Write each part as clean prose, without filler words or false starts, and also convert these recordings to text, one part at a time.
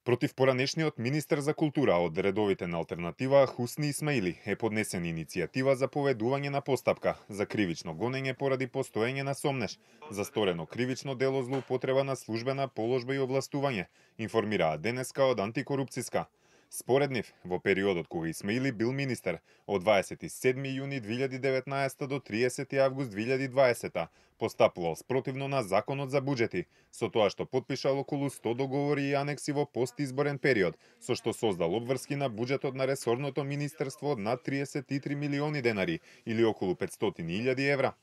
Против поранешниот министер за култура од редовите на Алтернатива Хусни Исмаили е поднесена иницијатива за поведување на постапка за кривично гонење поради постоење на сомнеш за сторено кривично дело злоупотреба на службена положба и овластување, информираа денеска од антикорупцијска. Според нив, во периодот кога Исмаили бил министер од 27 јуни 2019 до 30 август 2020 постапувал спротивно на законот за буџети, со тоа што потпишал околу 100 договори и анекси во постизборен период, со што создал обврски на буџетот на ресорното министерство од над 33 милиони денари или околу 500.000 евра.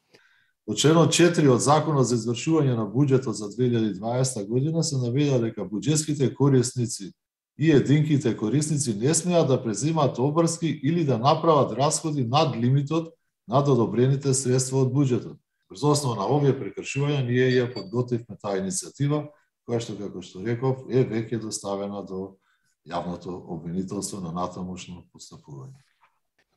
Во членот 4 од Законот за извршување на буџетот за 2020 година се наведе дека буџетските корисници и единките корисници не смеат да преземаат обврски или да направат расходи над лимитот над одобрените средства од буџетот. Врз основа на овие прекршувања ние ја подготвивме таа иницијатива, која што, како што реков, е веќе доставена до јавното обвинителство на натамошно постапување.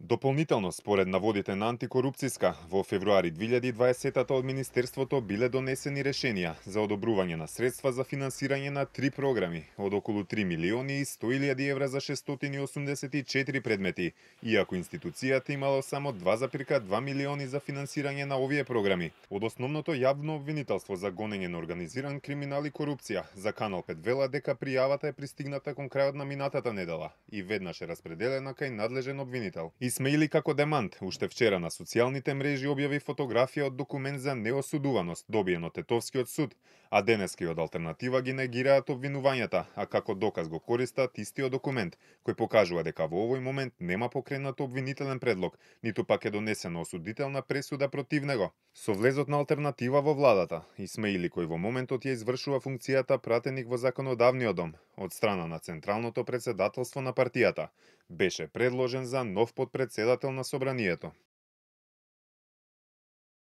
Дополнително, според наводите на антикорупцијска, во февруари 2020 од Министерството биле донесени решенија за одобрување на средства за финансирање на 3 програми од околу 3 милиони и 100.000 евра за 684 предмети, иако институцијата имала само 2,2 милиони за финансирање на овие програми. Од основното јавно обвинителство за гонење на организиран криминал и корупција за Канал 5 вела дека пријавата е пристигната кон крајот на минатата недела и веднаш е распределена кај надлежен обвинител. Исмаили како демант, уште вчера на социјалните мрежи објави фотографија од документ за неосудуваност, добиен од Тетовскиот суд, а денески од Алтернатива ги негираат обвинувањата, а како доказ го користат истиот документ, кој покажува дека во овој момент нема покренат обвинителен предлог, ниту пак е донесена осудителна пресуда против него. Со влезот на Алтернатива во владата, Исмаили, кој во моментот ја извршува функцијата пратеник во законодавниот дом од страна на Централното претседателство на партијата, беше предложен за нов потпредседател на собранието.